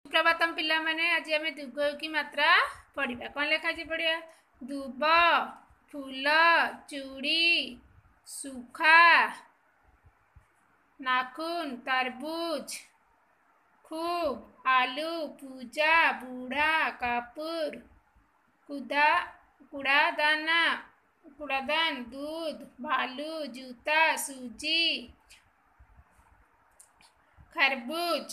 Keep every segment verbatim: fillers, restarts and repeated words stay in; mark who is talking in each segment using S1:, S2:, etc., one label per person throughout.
S1: ସୁପ୍ରଭାତମ ପିଲାମାନେ, ଆଜି ଆମେ ଦୁର୍ଗକି ମାତ୍ରା ପଢ଼ିବା। କ'ଣ ଲେଖା ଅଛି ପଢ଼ିବା। ଦୁବ, ଫୁଲ, ଚୁଡ଼ି, ସୁଖା, ନାଖୁନ, ତରବୁଜ, खूब, आलू, पूजा, बूढ़ा, कपूर, कुदा, कूड़ादाना, कूड़ादान, दूध, भालू, जूता, सूजी, खरबूज,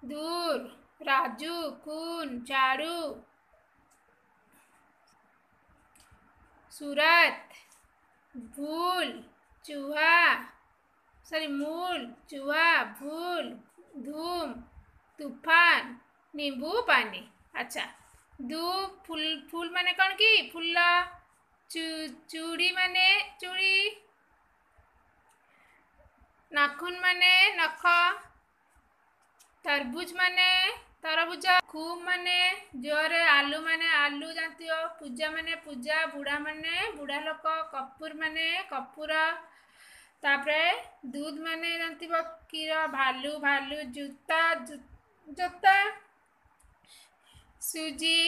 S1: दूर, राजू, खून, झाड़ू, सूरत, भूल, चूहा, सॉरी मूल, चूहा, भूल, धूम, तूफान, नींबू पानी। अच्छा, ଦୁ ଫୁଲ, ଫୁଲ ମାନେ କ'ଣ କି ଫୁଲ, ଚୁଡ଼ି ମାନେ ଚୁଡ଼ି, ନାଖୁନ ମାନେ ନଖ, ତରବୁଜ ମାନେ ତରଭୁଜ, ଖୁବ ମାନେ ଜୋରରେ, ଆଲୁ ମାନେ ଆଲୁ ଜାଣିଥିବ, ପୂଜା ମାନେ ପୂଜା, ବୁଢ଼ା ମାନେ ବୁଢ଼ା ଲୋକ, କପୁର ମାନେ କପୁର, ତାପରେ ଦୁଧ ମାନେ ଜାଣିଥିବ କ୍ଷୀର, ଭାଲୁ ଭାଲୁ, ଜୁତା ଜୋତା, ସୁଜି,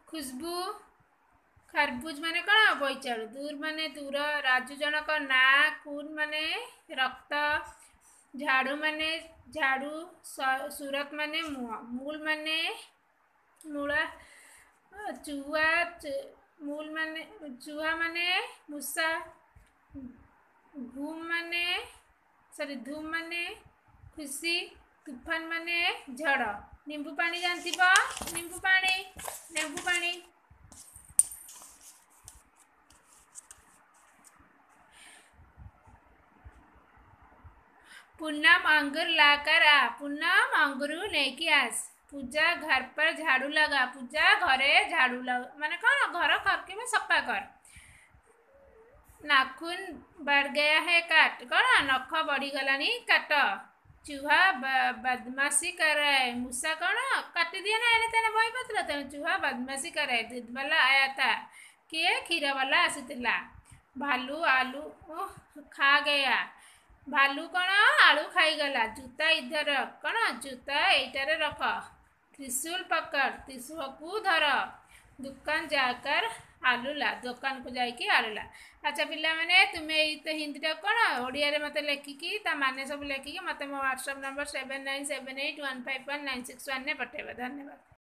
S1: ଖୁସବୁ, ଖରବୁଜ ମାନେ କ'ଣ ବୋଇତାଳୁ, ଦୂର ମାନେ ଦୂର, ରାଜୁ ଜଣକ ନାଁ, ଖୁନ ମାନେ ରକ୍ତ, ଝାଡ଼ୁ ମାନେ ଝାଡ଼ୁ, ସୁରତ ମାନେ ମୁହଁ, ମୂଲ ମାନେ ମୂଳା, ଚୁହା, ମୂଲ ମାନେ ଚୁହା ମାନେ ମୂଷା, ଘୁମ ମାନେ ସରି ଧୁମ ମାନେ ଖୁସି, ତୁଫାନ ମାନେ ଝଡ଼, ନିମ୍ବୁ ପାଣି ଜାଣିଥିବ, ନିମ୍ବୁ ପାଣି, ଲେମ୍ବୁ ପାଣି। पूनम अंगूर लाकर आ, पूनम अंगूर ନେଇକି ଆସ। ପୂଜା घर पर झाड़ू लगा, ପୂଜା ଘରେ ଝାଡ଼ୁ ଲଗା ମାନେ କ'ଣ ଘର ଖରକିବା ସଫା କର। नाखून बढ़ गया है काट, କ'ଣ ନଖ ବଢ଼ିଗଲାଣି କାଟ। चूहा बदमाशी कर रहा है, ମୂଷା କ'ଣ କାଟିଦିଏ ନା ଏଣେ ତେଣେ ବହିପତ୍ର, ତେଣୁ चूहा बदमाशी कर रहा है। दूध वाला आया था, କିଏ କ୍ଷୀର ବାଲା ଆସିଥିଲା। भालू आलू खा गया, ଭାଲୁ କ'ଣ ଆଳୁ ଖାଇଗଲା। जूता इधर रख, କ'ଣ ଜୁତା ଏଇଟାରେ ରଖ। त्रिशूल पकड़, ତ୍ରିଶୂଳକୁ ଧର। दुकान जाकर आलू ला, ଦୋକାନକୁ ଯାଇକି ଆଳୁ ଲା। ଆଚ୍ଛା ପିଲାମାନେ, ତୁମେ ଏଇ ତ ହିନ୍ଦୀଟା କ'ଣ ଓଡ଼ିଆରେ ମୋତେ ଲେଖିକି ତା ମାନେ ସବୁ ଲେଖିକି ମୋତେ ମୋ WhatsApp number seven nine seven eight one five one nine six ୱାନ୍ରେ ପଠାଇବ। ଧନ୍ୟବାଦ।